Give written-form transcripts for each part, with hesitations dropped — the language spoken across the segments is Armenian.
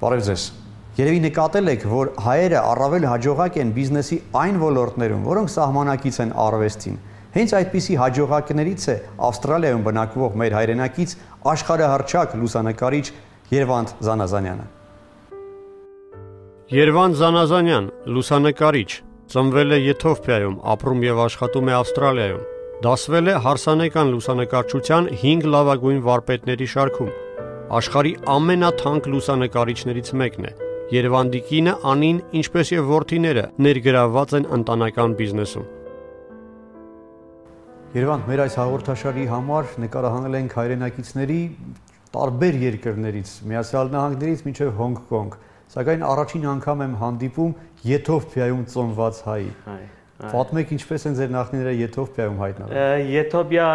Բարև ձեզ։ Երևի նկատել եք, որ հայերը առավել հաջողակ են բիզնեսի այն ոլորտներում, որոնք սահմանակից են արվեստին։ Հենց այդպիսի հաջողակներից է Ավստրալիայում բնակվող մեր հայրենակից աշխարհահռչակ լուսանկարիչ Երվանդ Զանազանյանը։ Երվանդ Զանազանյան, լուսանկարիչ, ծնվել է Եթովպիայում, ապրում եւ աշխատում է Ավստրալիայում։ Դասվել է հարսանեկան լուսանկարչության 5 լավագույն վարպետների շարքում։ Աշխարհի ամենաթանկ լուսանկարիչներից մեկն է։ Երևանդի կինը Անին, ինչպես եւ որդիները, ներգրավված են ընտանեկան բիզնեսում։ Երևանդ, մեր այս հաղորդաշարի համար նկարահանել ենք հայրենակիցների տարբեր երկրներից, Միացյալ Նահանգներից մինչև Հոնգկոնգ, սակայն առաջին անգամ եմ հանդիպում Եթովպիայում ծնված հայի։ Պատմեք, ինչպես են ձեր նախնիները Եթովպիայում հայտնվել։ Եթովպիա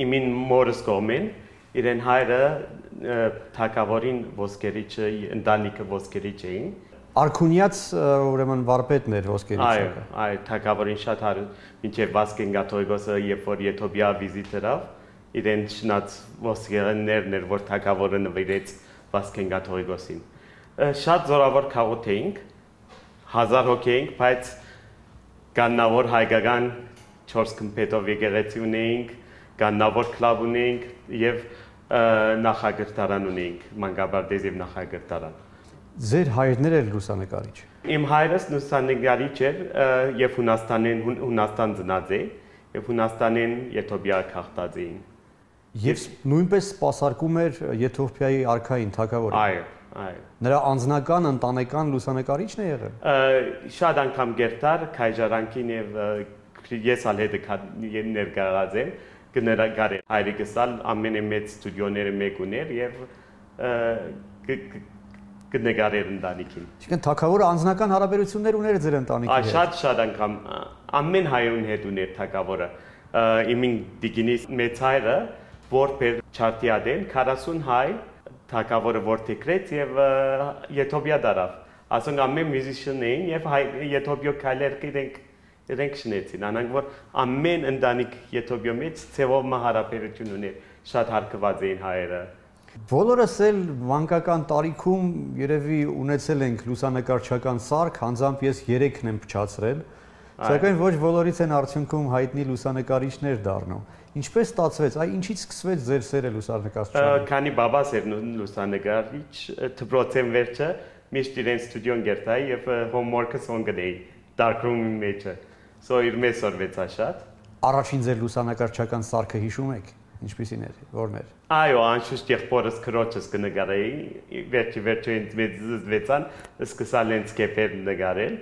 իմին մորս կողմին, իրեն հայրը թագավորին ոսկերիչը, ընտանիքը ոսկերիչ էին։ Արքունյաց ուրեմն վարպետներ ոսկերիչը։ Այո, թագավորին շատ մինչև Վասկեն Գաթողիկոսը, երբ որ Եթովպիա վիզիտերավ, իրեն շնած ոսկերներն էր, որ թագավորը նվիրեց Վասկեն Գաթողիկոսին։ Շատ զորավոր քաղաք էինք, 1000 հոգի էինք, բայց կաննավոր հայկական 4 կմպետով եկեղեցի ունեինք, կաննավոր կլաբ ունեինք եւ նախագահտարան ունեինք, մանկաբարձ եւ նախագահտարան։ Ձեր հայրն էր լուսանկարիչ։ Իմ հայրս լուսանկարիչ էր եւ Հունաստան ծնած է եւ Հունաստանին Եթովպիա քաղտած էին։ Եվ նույնպես սպասարկում էր Եթովպիայի արքային թագավորին։ Այո, այո։ Նրա անձնական ընտանեկան լուսանկարիչն է եղել։ Շատ անգամ գերտար քայժարանքին եւ ես ալ հետը ներկայացած եմ կներկայացել հայրիկս ալ ամենամեծ ստուդիոները մեկ ուներ եւ կնկարեր ընտանիքին։ Այսինքն թագավորը անձնական հարաբերություններ ուներ ձեր ընտանիքի հետ։ Շատ անգամ ամեն հայրուն հետ ուներ թագավորը։ Իմին դիգինիս մեծ հայրը որբեր չարտիադեն 40 հայ թագավորը որտեքրեց եւ Եթովպիա դարավ։ Ասենք ամեն մյուզիշիան էին եւ Եթովպիա քայլեր իրենք շնեցին, անանք որ ամեն ընտանիք Եթովպիա մեջ ցեվով հարաբերություն ուներ, շատ հարգված էին հայերը։ Բոլորս էլ մանկական տարիքում երևի ունեցել ենք լուսանկարչական սարք, անձամբ ես 3-ն եմ փչացրել, սակայն ոչ բոլորից են արդյունքում հայտնի լուսանկարիչներ դառնում։ Ինչպես ստացվեց, ինչից սկսվեց ձեր սերը լուսանկարչության։ Քանի բաբաս էր լուսանկարիչ, դպրոցեն վերջը միշտ իրեն ստուդիոն գերտայի եւ homework-ը սոնգնեի darkroom-ի մեջը։ So իր մեծ սորվեց աշատ։ Առաջին ձեր լուսանկարչական սարքը հիշում եք, ինչպիսին էր, որն էր։ Այո, անշուշտ եղբորս քրոջս կնկարեի, վերջը ինձ մեծ զվեցան, սկսա լենցկեփեր նկարել։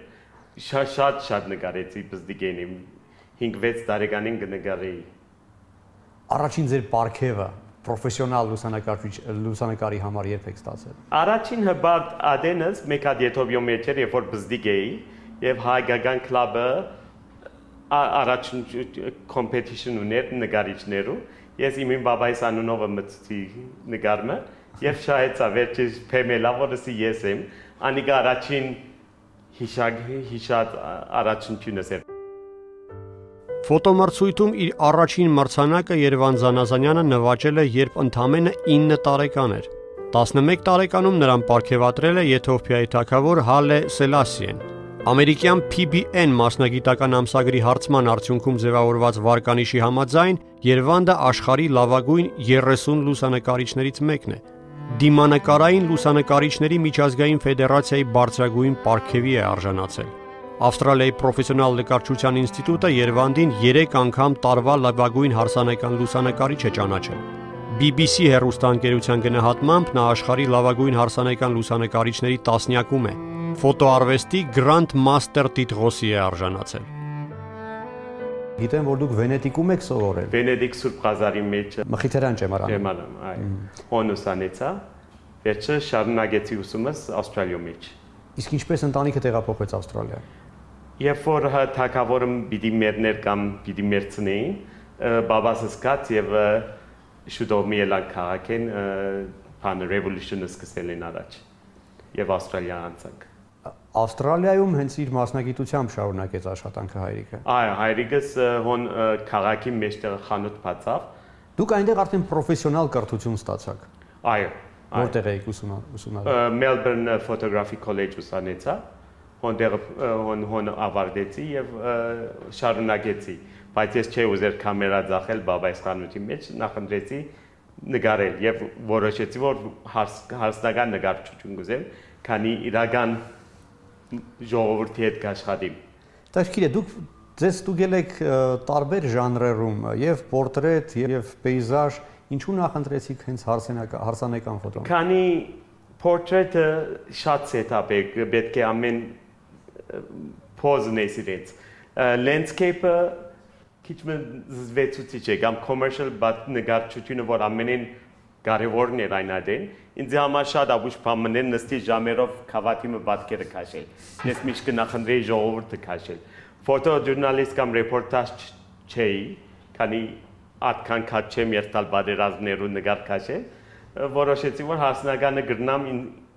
Շատ նկարեցի բզդիգենիմ 5-6 տարեկանին կնկարեի։ Առաջին ձեր պարքևը պրոֆեսիոնալ լուսանկարի համար երբ եք ստացել։ Առաջին հբարտ ադենս մեկ հատ Եթովպիա մեջ էր, երբ որ բզդիգ էի եւ հայկական կլաբը առաջին կոմպետիշն ուներ նկարիչներու։ Ես իմին բաբայիս անունովը մտցի նկարումը եւ շահեցա վերջի փեմելա որսի ես եմ անիկա առաջին հիշած առաջինությունս էր։ Ֆոտոմրցույթում իր առաջին մրցանակը Երվանդ Զանազանյանը նվաճել է, երբ ընդամենը 9 տարեկան էր։ 11 տարեկանում նրան պարգևատրել է Եթովպիայի թագավոր Հալե Սելասիեն։ Ամերիկյան PBN մասնագիտական ամսագրի հարցման արդյունքում ձևավորված վարկանիշի համաձայն Երվանդը աշխարհի լավագույն 30 լուսանկարիչներից մեկն է։ Դիմանկարային լուսանկարիչների միջազգային ֆեդերացիայի բարձրագույն պարգևի է արժանացել։ Ավստրալիայի պրոֆեսիոնալ նկարչության ինստիտուտը Երվանդին 3 անգամ տարվա լավագույն հարսանեկան լուսանկարիչ է ճանաչել։ BBC հեռուստաընկերության գնահատմամբ նա աշխարհի լավագույն հարսանեկան լուսանկարիչների տասնյակում է։ Ֆոտոարվեստի Grand Master տիտղոսի է արժանացել։ Գիտեմ, որ դուք Վենետիկում եք սովորել։ Վենետիկ Սուրբ Ղազարի մեջ Մխիթարյան ճեմարանում։ Ճեմարանում, այո։ Հոնուսանեցա, վերջը շարունակեցի ուսումս Ավստրալիայում մեջ։ Իսկ ինչպես ընտանիքը տեղափոխվեց Ավստրալիա։ Երբ որ թագավորը պիտի մերներ կամ պիտի մերցնեին, բաբասը սկաց եւ շուտով մի ելան քաղաքեն բան ռևոլյուցիոնը սկսել են առաջ եւ Ավստրալիա անցանք։ Ավստրալիայում հենց իր մասնագիտությամբ շարունակեց աշխատանքը հայրիկը։ Այո, հայրիկս հոն քաղաքի մեջտեղ խանութ բացավ։ Դուք այնտեղ արդեն պրոֆեսիոնալ կրթություն ստացաք։ Այո, Որտեղ եք ուսումնասիրում։ Melbourne Photography College ուսանեցա, հոն ավարտեցի եւ շարունակեցի, բայց ես չէի ուզեր կամերա ձախել բաբայիս խանութի մեջ, նախընտրեցի նկարել եւ որոշեցի, որ հարսնական նկարչություն կուզեմ, քանի իրական ժողովրդի հետ կաշխատեմ։ Տաշկիրե, դուք ստուգել եք տարբեր ժանրերում, եւ պորտրետ, եւ պեյզաժ, ինչու նախընտրեցիք հենց հարսանեկան ֆոտոն։ Քանի պորտրետը շատ սետափ է, պետք է ամեն պոզն է սիրեց։ Landscape-ը քիչ զվեցուցիչ է, կամ commercial բաց նկարչությունը, որ ամենին կարևորն է այն այդեն, ինձ համար շատ աբուշ բամաներ նստի ժամերով քավաթիմը պատկերը քաշել։ Ես միշտ կնախընտրեի ժողովուրդը քաշել։ Ֆոտոժուրնալիստ կամ ռեպորտաժ չէի, քանի այդքան քաջ չեմ երթալ բادرազներու նկար քաշել, որոշեցի, որ հարսնականը գրնամ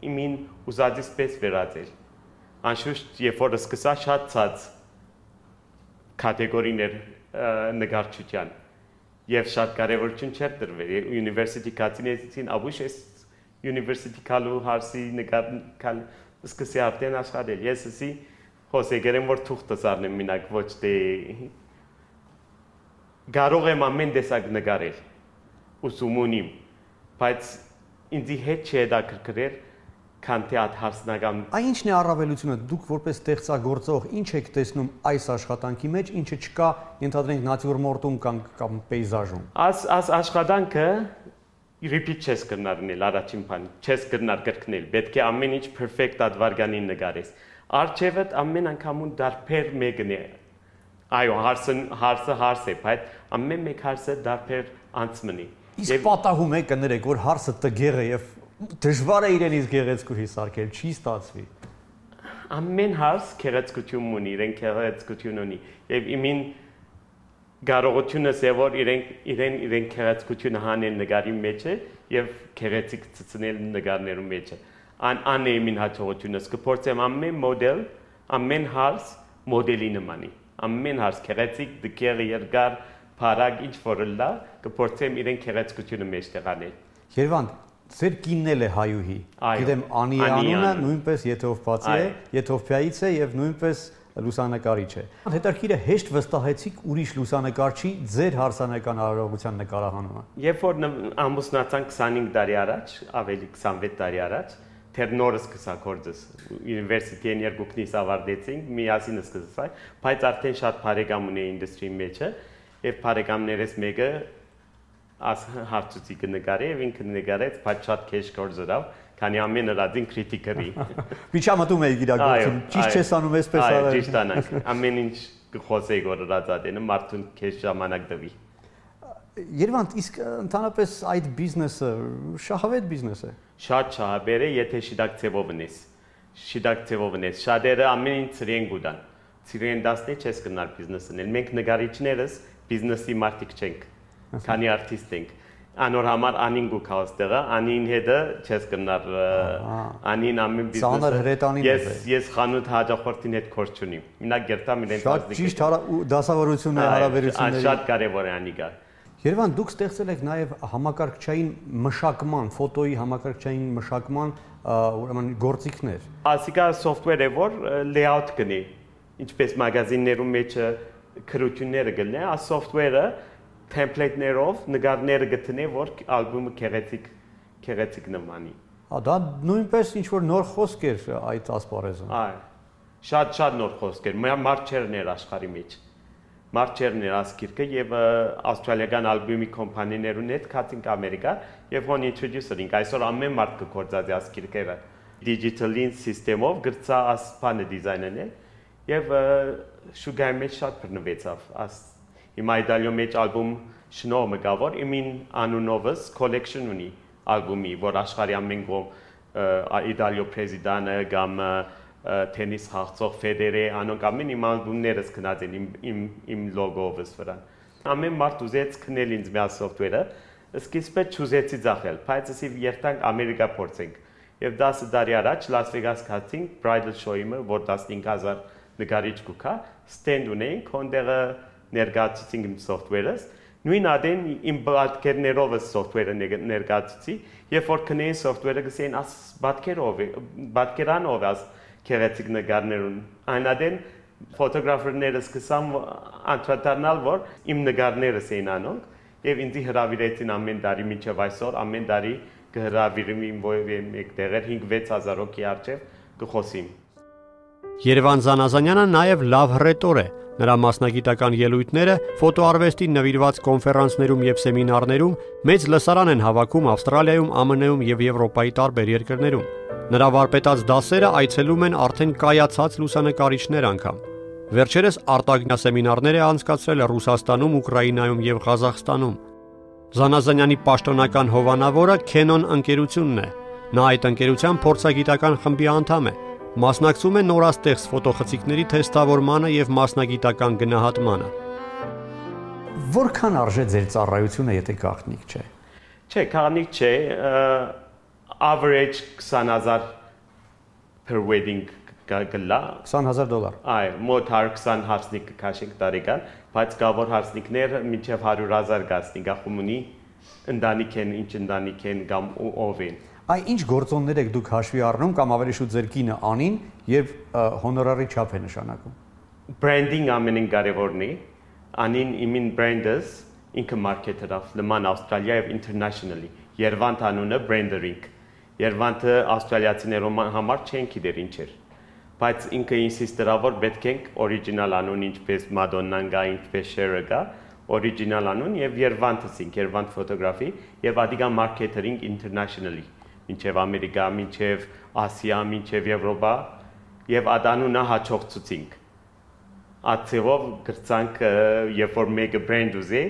իմին ուզածից պես վերածել։ Անշուշտ, երբ որ սկսա շատ ցած կատեգորիներ նկարչության եւ շատ կարեւորություն չէր տրվել University կացինեցին աբուշ էս University կալու հարսի նկարքալ սկսի արդեն աշխատել ես էսի հոսեգերեմ որ թուղթս առնեմ մինակ ոչ թե կարող եմ ամեն տեսակ նկարել ուսում ունիմ բայց ինձի հետ չէ դա կրկրել քան թե այդ հարսնական Ինչն է առավելությունը դուք որպես ստեղծագործող ինչ եք տեսնում այս աշխատանքի մեջ ինչը չկա ենթադրենք նատյուրմորտում կամ պեյզաժում Այս աշխատանքը repeat չես կրնարնել առաջին բան չես կրնար կրկնել պետք է ամեն ինչ perfect advarganին նկարես արժևդ ամեն անգամուն դարբեր մեկն է այո հարսը է բայց ամեն մեկ հարսը դարբեր անցմնի իսկ պատահում է կներեք որ հարսը տգեղ է եւ Դժվար է իրենից գեղեցկուհի սարքել, չի ստացվի։ Ամեն հարս գեղեցկություն ունի, իրեն գեղեցկություն ունի, եւ իմին կարողությունը է որ իրեն գեղեցկությունը հանեն նկարի մեջ եւ գեղեցիկ ցցնել նկարներու մեջ։ Ան է իմին հաջողությունը, կփորձեմ ամեն մոդել, ամեն հարս մոդելի նմանի։ Ամեն հարս գեղեցիկ, դկեր, երկար, փարակ ինչ որլա, կփորձեմ իրեն գեղեցկությունը մեջ տեղանել։ Երևան Ձեր կինն էլ է հայուհի։ Գիտեմ Անի անունը նույնպես եթովպացի է, Եթովպիայից է եւ նույնպես լուսանկարիչ է։ Հետաքրքիր է հեշտ վստահեցիք ուրիշ լուսանկարչի ձեր հարսանեկան արարողության նկարահանումը։ Երբ որ ամուսնացանք 25 տարի առաջ, ավելի 26 տարի առաջ, թեր նորը սկսա գործս։ Ունիվերսիտետին երկուքնից ավարտեցինք, միասին սկսա, բայց արդեն շատ բարեկամ ունեի ինդուստրիի մեջ եւ բարեկամներս մեկը հարցուցի կնկարի եւ ինքը նկարեց, բայց շատ քեշ գործով, քանի ամեն ռադին քրիտիկերի։ Միջամտում էի իրագործում, ճիշտ չես անում այսպես արել։ Այո, ճիշտ անանք։ Ամեն ինչ կխոսեի գործածածենը մարդուն քեշ ժամանակ տվի։ Երևան, իսկ ընդհանրապես այդ բիզնեսը շահավետ բիզնես է։ Շատ շահաբեր է, եթե շիդակ ծևով ունես։ Շիդակ ծևով ունես։ Շատերը ամեն ինչ ծրեն գուտան։ Ծիրեն դասնի չես կնար բիզնեսն։ Մենք նկարիչներս բիզնեսի մարդիկ չենք։ Քանի արտիստ ենք անոր համար անին գուք հաստեղա անին հետը չես կնար անին ամեն բիզնես ես խանութ հաջախորդին հետ կորց չունիմ մինակ գերտամ իրեն շատ ճիշտ դասավորություն է հարաբերությունների շատ կարևոր է անիկա Երևան դուք ստեղծել եք նաև համակարգչային մշակման ֆոտոյի համակարգչային մշակման ուրեմն գործիքներ ասիկա software է որ layout կնի ինչպես մագազիններում մեջ քրությունները գտնի այս software-ը template-ներով նկարները գտնե որ ալբոմը քեղեցիկ նմանի։ Դա նույնպես ինչ որ նոր խոսք էր այդ ասպարեզում։ Այո։ Շատ նոր խոսք էր։ Մարչերներ աշխարհի մեջ։ Մարչերներ ասկիրկը եւ ավստրալիական ալբոմի կոմպանիներուն հետ կացինք Ամերիկա եւ հոն introducer-ին այսօր ամեն մարդ կգործածի ասկիրկերը digital-ին սիստեմով գրծա ասպանը դիզայնն եւ շուգայի մեջ շատ բռնվեցավ։ Հիմա Իտալիո մեջ ալբոմ շնորհ մգավոր իմին անունովս collection ունի ալբոմի որ աշխարհի ամեն կողմ Իտալիո պրեզիդանը կամ տենիս հաղթող Ֆեդերե անոնք ամեն իմ ալբոմներս գնաց են իմ լոգովս վրան ամեն մարդ ուզեց քնել ինձ մի software-ը սկիզբը չուզեցի ձախել բայց ասի երթանք Ամերիկա փորձենք եւ 10 տարի առաջ Լաս Վեգաս գացինք bridal show-ը որ 15000 նկարիչ կուքա ստենդ ունեինք հոնդերը ներգացուցինք իմ software-ս նույն ադեն իմ պատկերներով սոֆթվերը ներկայացուցի, երբ որ կնեին սոֆթվերը գսեին աս պատկերանով աս քերեցիկ նկարներուն։ Այն ադեն ֆոտոգրաֆերները սկսան անդրադառնալ, որ իմ նկարներս էին անում, եւ ինձ հրավիրեցին ամեն տարի մինչեւ այսօր ամեն տարի կհրավիրեմ իմ որևէ մեկ տեղեր 5-6 հազար հոգի առջև կխոսիմ։ Երևան Զանազանյանը նաև լավ հռետոր է։ Նրա մասնագիտական ելույթները ֆոտոարվեստին նվիրված կոնֆերանսներում եւ սեմինարներում մեծ լսարան են հավաքում Ավստրալիայում, ԱՄՆ-ում եւ Եվրոպայի տարբեր երկրներում։ Նրա վարպետած դասերը այցելում են արդեն կայացած լուսանկարիչներ անգամ։ Վերջերս արտագնա սեմինարներ է անցկացրել Ռուսաստանում, Ուկրաինայում եւ Ղազախստանում։ Զանազանյանի պաշտոնական հովանավորը Canon ընկերությունն է։ Նա այդ ընկերության փորձագիտական խմբի անդամ է։ Մասնակցում է նորաստեղծ ֆոտոխցիկների թեստավորմանը եւ մասնագիտական գնահատմանը։ Որքան արժե ձեր ծառայությունը, եթե գաղտնիք չէ։ Չէ, գաղտնիք չէ, average 20,000 per wedding գլա $20,000։ Այո, մոտ 120 հարսնիկ կքաշենք տարեկան, բայց կավոր հարսնիկներ մինչև 100,000 գացնի գախումունի ընտանիք են, ինչ ընտանիք են կամ ով են։ Այ ինչ գործոններ եք դուք հաշվի առնում կամ ավելի շուտ ձեր կինը անին եւ հոնորարի չափ է նշանակում։ Branding ամենին կարևորն է, անին իմին brand-ս ինքը marketer-ով լման Ավստրալիա եւ internationally։ Երևանտ անունը branding։ Երևանտը ավստրալիացիներում համար չեն գիտեր ինչ էր։ Բայց ինքը ինսիստերավ որ պետք է original անուն ինչպես Madonna-ն գա, ինչպես Cher-ը գա, original անուն եւ Երևանտս ինք Երևանտ ֆոտոգրաֆի եւ ադիգա marketing internationally։ Մինչև Ամերիկա, մինչև Ասիա, մինչև Եվրոպա եւ ադանունը հաջողցուցինք։ Ացեվով գրծանք երբ որ մեկը brand ուզի,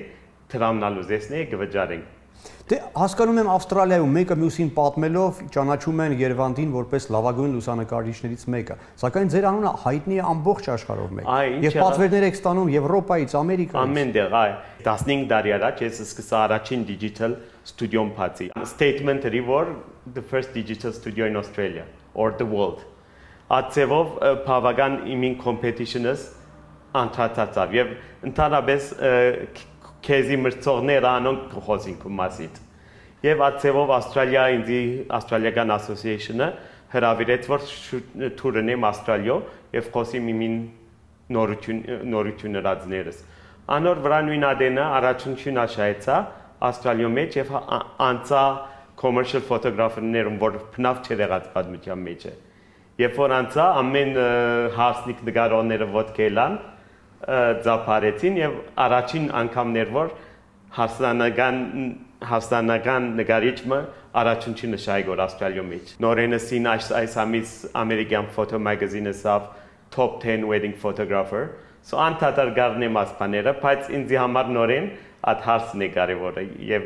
տրամնալ ուզեսնի գվճարենք։ Դե հասկանում եմ Ավստրալիայում մեկը մյուսին պատմելով ճանաչում են Երևանտին որպես լավագույն լուսանկարիչներից մեկը, սակայն ձեր անունը հայտնի է ամբողջ աշխարհով մեկ։ Եվ պատվերներ եք ստանում Եվրոպայից, Ամերիկայից։ Ամենտեղ, այ 15 տարի առաջ ես սկսա առաջին digital studio-ն բացի։ Statement-ը որ the first digital studio in Australia or the world։ Ացեվով բավական իմին competition-ս անդրադարձավ եւ ընդհանրապես քեզի մրցողները անոնք խոսին կմասիտ։ Եվ ացեվով Ավստրալիա ինձի Australian Association-ը հրավիրեց որ թուրնեմ Ավստրալիո եւ խոսիմ իմին նորություն ռադներս։ Անոր վրա նույն ադենը առաջին աշայեցա Ավստրալիո մեջ եւ անցա commercial photographer-ներում որ փնավ չեղած պատմության մեջ է։ Երբ որ անցա ամեն հարսնիկ նկարողները ոտքելան ձապարեցին եւ առաջին անգամներ որ հարսանական նկարիչը առաջին նշայգոր Ավստրալիո մեջ նորենսին այս ամիս American Photo Magazine-ը top 10 wedding photographer so անդադար գարնեմ ասպաները բայց ինձի համար նորեն այդ հարցն է կարևորը եւ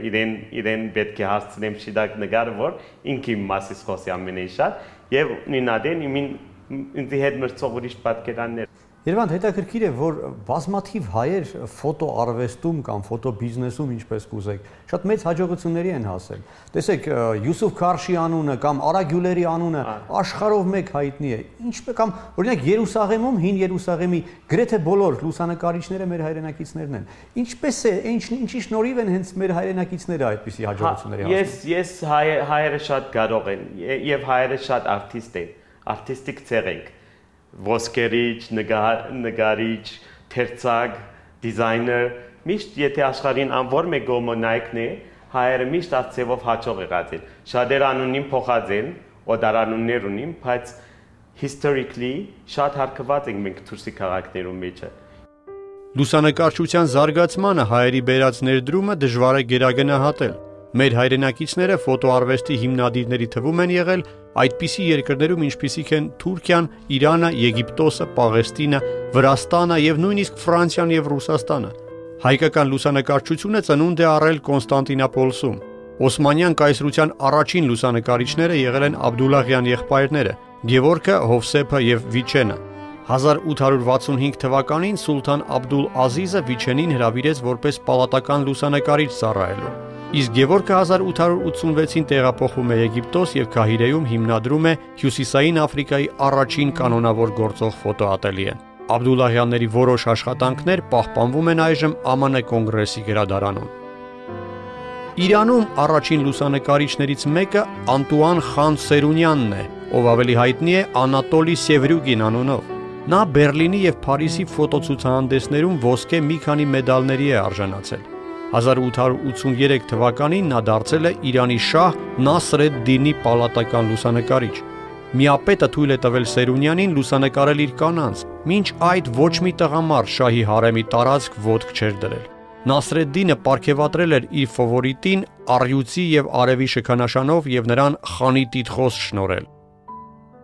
իրեն պետք է հարցնեմ շիդակ նկարը որ ինքի մասից խոսի ամենից շատ եւ նույնադեն ինձի հետ մրցող ուրիշ պատկերաններ Երևանտ հետաքրքիր է, որ բազմաթիվ հայեր ֆոտոարվեստում կամ ֆոտոբիզնեսում, ինչպես կուզեք, շատ մեծ հաջողությունների են հասել։ Տեսեք, Յուսուֆ Քարշի անունը կամ Արա Գյուլերի անունը աշխարհով մեկ հայտնի է։ Ինչպես կամ օրինակ Երուսաղեմում, հին Երուսաղեմի գրեթե բոլոր լուսանկարիչները մեր հայրենակիցներն են։ Ինչպես է, ինչի շնորհիվ են հենց մեր հայրենակիցները այդպիսի հաջողությունների հասնում։ Ես հայերը շատ կարող են եւ հայերը շատ արտիստիկ ցեղ են։ Ոսկերիչ, նկարիչ, թերծակ, դիզայներ, միշտ եթե աշխարհին անոր մեկ գոմոնայքն է, հայերը միշտ ածևով հաջող եղած են։ Շատեր անունին փոխած են, օդարանուններ ունին, բայց historically շատ հարկված ենք մենք դուրսի քաղաքներում մեջը։ Լուսանկարչության զարգացմանը հայերի բերած ներդրումը դժվար է գերագնահատել։ Մեր հայրենակիցները ֆոտոարվեստի հիմնադիրների թվում են եղել այդպիսի երկրներում ինչպիսիք են Թուրքիան, Իրանը, Եգիպտոսը, Պաղեստինը, Վրաստանը եւ նույնիսկ Ֆրանսիան եւ Ռուսաստանը։ Հայկական լուսանկարչությունը ծնունդ է առել Կոնստանտինոպոլսում։ Օսմանյան կայսրության առաջին լուսանկարիչները եղել են Աբդուլլահյան եղբայրները՝ Գևորգը, Հովսեփը եւ Վիչենը։ 1865 թվականին Սուլթան Աբդուլ Ազիզը Վիչենին հրավիրեց որպես պալատական լուսանկարիչ ծառայելու։ Իսկ Գևորգը 1886-ին տեղափոխվում է Եգիպտոս եւ Քահիրեում հիմնադրում է Հյուսիսային Աֆրիկայի առաջին կանոնավոր գործող ֆոտոատելիեն։ Աբդուլլահյանների որոշ աշխատանքներ պահպանվում են այժմ ԱՄՆ կոնգրեսի գրադարանում։ Իրանում առաջին լուսանկարիչներից մեկը Անտուան Խան Սերունյանն է, ով ավելի հայտնի է Անատոլի Սևրյուգին անունով։ Նա Բերլինի եւ Փարիզի ֆոտոցուցահանդեսներում ոսկե մի քանի մեդալների է արժանացել։ 1883 թվականին նա դարձել է Իրանի շահ Նասր էդ-Դինի պալատական լուսանկարիչ։ Միապետը թույլ է տվել Սերունյանին լուսանկարել իր կանանց, մինչ այդ ոչ մի տղամարդ շահի հարեմի տարածք ոտք չէր դրել։ Նասր էդ-Դինը պարգևատրել էր իր ֆավորիտին առյուծի եւ արևի շքանշանով եւ նրան խանի տիտղոս շնորհել։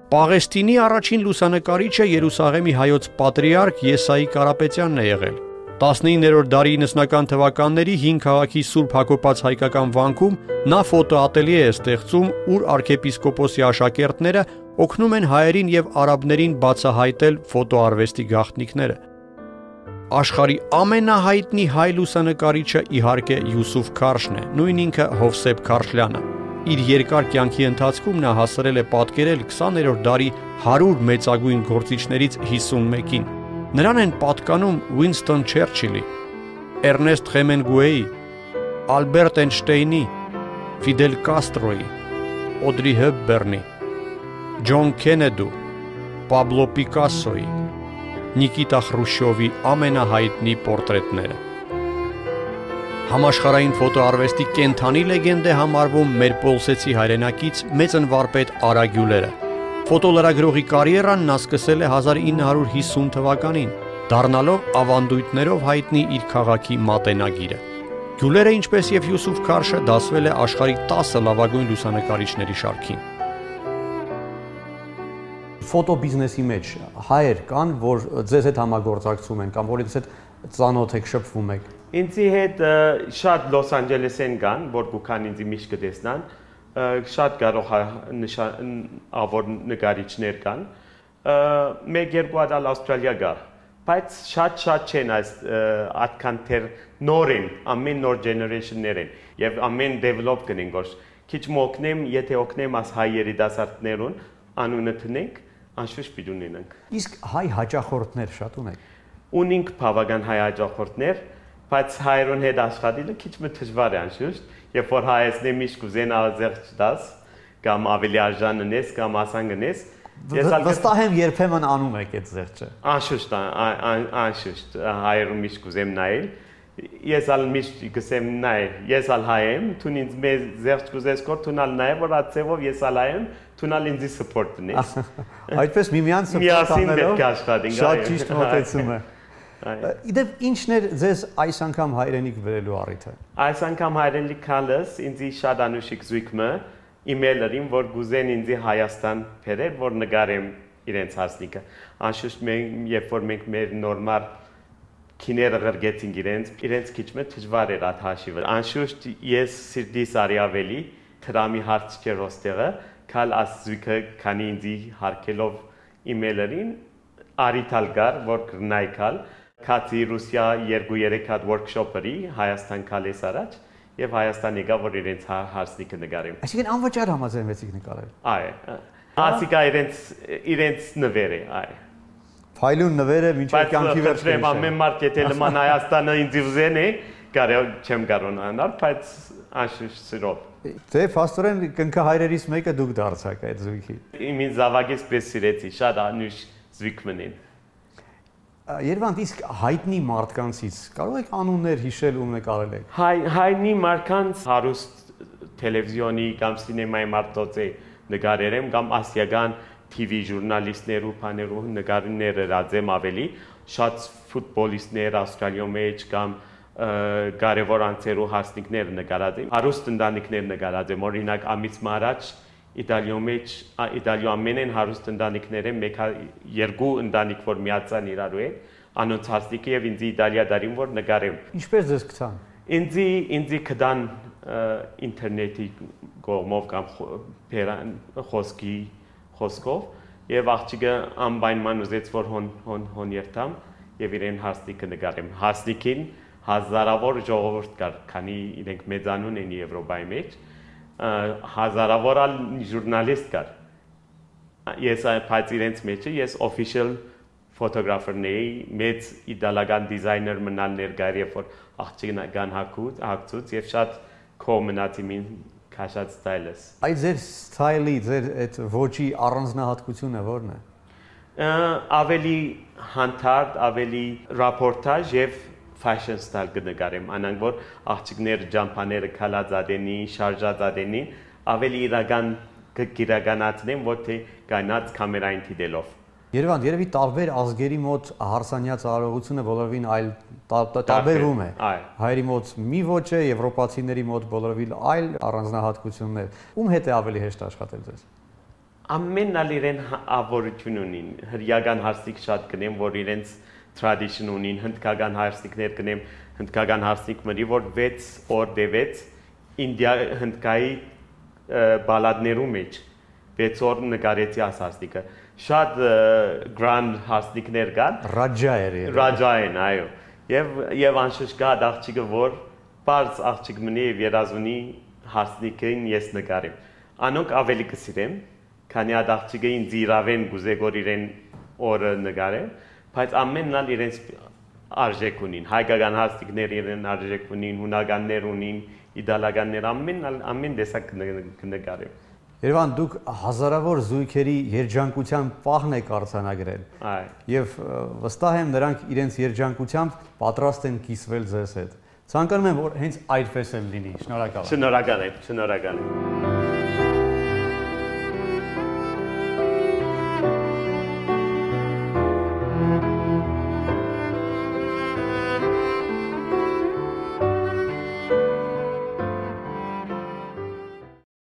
Պաղեստինի առաջին լուսանկարիչը Երուսաղեմի հայոց պատրիարք Եսայի Կարապետյանն է եղել։ 19-րդ դարի 90-ական թվականների հին քաղաքի Սուրբ Հակոբաց հայկական վանքում նա ֆոտոատելյե է ստեղծում, ուր arczepiskopos-ի աշակերտները օգնում են հայերին եւ արաբներին բացահայտել ֆոտոարվեստի գաղտնիքները։ Աշխարհի ամենահայտնի հայ լուսանկարիչը իհարկե Յուսուֆ Քարշն է, նույն ինքը Հովսեփ Քարշլյանը։ Իր երկար կյանքի ընթացքում նա հասցրել է պատկերել 20-րդ դարի 100 մեծագույն գործիչներից 51-ին։ Նրան են պատկանում Ուինստոն Չերչիլի, Էրնեստ Խեմենգուեի, Ալբերտ Էյնշտեյնի, Ֆիդել Կաստրոյի, Օդրի Հեփբերնի, Ջոն Քենեդու, Պաբլո Պիկասոյի, Նիկիտա Խրուշչովի ամենահայտնի պորտրետները։ Համաշխարհային ֆոտոարվեստի կենթանի լեգենդ է համարվում մեր պոլսեցի հայրենակից մեծն վարպետ Արա Գյուլերը։ Ֆոտոլրագրողի կարիերան նա սկսել է 1950 թվականին, դառնալով ավանդույթներով հայտնի իր քաղաքի մատենագիրը։ Գյուլերը, ինչպես եւ Յուսուֆ Քարշը, դասվել է աշխարհի 10 լավագույն լուսանկարիչների շարքին։ Ֆոտոբիզնեսի մեջ հայեր կան, որ ձեզ հետ համագործակցում են կամ որից հետ ծանոթ եք, շփվում եք։ Ինձի հետ շատ Լոս Անջելեսեն կան, որ գուքան ինձի միշտ կտեսնան, շատ կարող ավոր նկարիչներ կան, մեկ-երկու հատ Ավստրալիա գա, բայց շատ չեն այս այդքան թեր նոր են, ամեն նոր ջեներեյշններ են եւ ամեն դեվելոպ կնեն գոր։ Քիչ մոկնեմ, եթե օգնեմ աս հայ երիտասարդներուն, անունը տնենք, անշուշտ պիտի ունենանք։ Իսկ հայ հաճախորդներ շատ ունեք։ Ունենք բավական հայ հաճախորդներ, բայց հայերուն հետ աշխատելը քիչ մը դժվար է անշուշտ, երբ որ հայացնի միշտ կուզեն ազեղ չդաս, կամ ավելի արժան ունես, կամ ասան գնես։ Վստահ եմ երբեմն անում եք այդ զեղչը։ Անշուշտ, հայերուն միշտ կուզեմ նայել։ Ես ալ միշտ կսեմ նայ, ես ալ հայ եմ, թուն ինձ մեզ զեղչ կուզես կոր, թունալ նայ, որ ացևով ես ալ հայ եմ, թունալ ինձի սպորտ տնես։ Այդպես միմյանց սպորտ անելով շատ ճիշտ մոտեցում է։ Իդեպ ինչն էր ձեզ այս անգամ հայրենիք վերելու առիթը։ Այս անգամ հայրենիք քալս ինձի շատ անուշիկ զույգը իմեյլերին, որ գուզեն ինձի Հայաստան բերել, որ նկարեմ իրենց հասնիկը։ Անշուշտ երբ որ մենք մեր նորմալ քիները գրգեցինք իրենց քիչ մը դժվար էր այդ հաշիվը։ Անշուշտ ես սիրտիս արի ավելի դրամի հարց չէր ոստեղը, քալ ասույքը քանի ինձի հարկելով իմեյլերին արիթալ գար, որ կրնայքալ Քացի Ռուսիա 2-3 հատ workshop-երի Հայաստան քալես առաջ եւ Հայաստան եկա որ իրենց հարցնիկը նկարեմ։ Այսինքն անվճար համաձայնվեցիք նկարել։ Այ։ Ասիկա իրենց նվերը, այ։ Ֆայլուն նվերը մինչև կյանքի վերջը։ Բայց ամեն մարդ եթե լման Հայաստանը ինձ ուզեն է, կարել չեմ կարողանալ, բայց անշուշտ սիրով։ Դե փաստորեն կնքահայրերից մեկը դուք դարձաք այդ զույգի։ Իմին զավակից պես սիրեցի, շատ անուշ զույգմն են։ Երևանդ իսկ հայտնի մարդկանցից կարող եք անուններ հիշել ում նկարել եք։ Հայտնի մարդկանց հարուստ տելևիզիոնի կամ սինեմայի մարդոց նկարել եմ կամ ասիական TV ժուրնալիստներու, բաներու նկարները ռադեմ ավելի, շատ ֆուտբոլիստներ Ավստրալիա մեջ կամ կարևոր անձերու հարսնիկներ նկարած եմ, հարուստ ընտանիքներ նկարած եմ, օրինակ ամիս առաջ Իտալիա մեջ, Իտալիա ամենեն հարուստ ընտանիքները երկու ընտանիք որ միացան իրարու հետ, անոնց հարսնիկը եւ ինձ Իտալիա դարին որ նկարեմ։ Ինչպես ձեզ գտան։ Ինձի կդան ինտերնետի կողմով կամ խոսքով եւ աղջիկը անպայման ուզեց որ հոն երթամ եւ իրեն հարսնիկը նկարեմ։ Հարսնիկին հազարավոր ժողովուրդ կար, քանի իրենք մեծանուն են Եվրոպայի մեջ, հազարավոր ժուրնալիստ կար։ Ես բայց իրենց մեջ ես official ֆոտոգրաֆերների մեծ իտալական դիզայներ մնալ ներկայ երբ որ աղջիկան հագցուց եւ շատ քո մնացի մին քաշած ստայլս։ Այդ ձեր ստայլի, ձեր այդ ոճի առանձնահատկությունը ո՞րն է։ Ավելի հանդարտ, ավելի ռապորտաժ եւ fashion style կնկարեմ, անանք որ աղջիկներ ջամփաները քալած ադենին, շարժած ադենին, ավելի իրական կիրականացնեմ, ոչ թե գանած կամերային դիտելով։ Երևան, երևի տարբեր ազգերի մոտ հարսանյաց արարողությունը բոլորովին այլ տարբերվում է։ Հայերի մոտ մի ոճ է, եվրոպացիների մոտ բոլորովին այլ առանձնահատկություններ։ Ում հետ է ավելի հեշտ աշխատել ձեզ։ Ամենն ալ իրեն ավորություն ունին։ Հրյական հարսիկ շատ կնեմ, որ իրենց tradition ունին, հնդկական հարսիկներ կնեմ, հնդկական հարսիկների, որ 6 օր դեվեց Ինդիա հնդկայի բալադներու մեջ 6 օր նկարեցի աս հարսիկը։ Շատ grand հարսիկներ կան։ Ռաջա էր։ Ռաջա են, այո։ Եվ անշուշտ կա աղջիկը, որ բարձ աղջիկ մնի եւ երազունի հարսիկին ես նկարեմ։ Անոնք ավելի կսիրեմ, քանի այդ աղջիկը ինձ իրավեն գուզեգոր իրեն օրը նկարեմ, բայց ամենն ալ իրենց արժեք ունին։ Հայկական հարսիկներ իրեն արժեք ունին, հունականներ ունին, իտալականներ ամեն տեսակ կնկարեմ։ Երևան, դուք հազարավոր զույգերի երջանկության պահն եք արձանագրել։ Եվ վստահ եմ նրանք իրենց երջանկությամբ պատրաստ են կիսվել ձեզ հետ։ Ցանկանում եմ, որ հենց այդպես էլ լինի։ Շնորհակալ եմ։ Շնորհակալ եմ։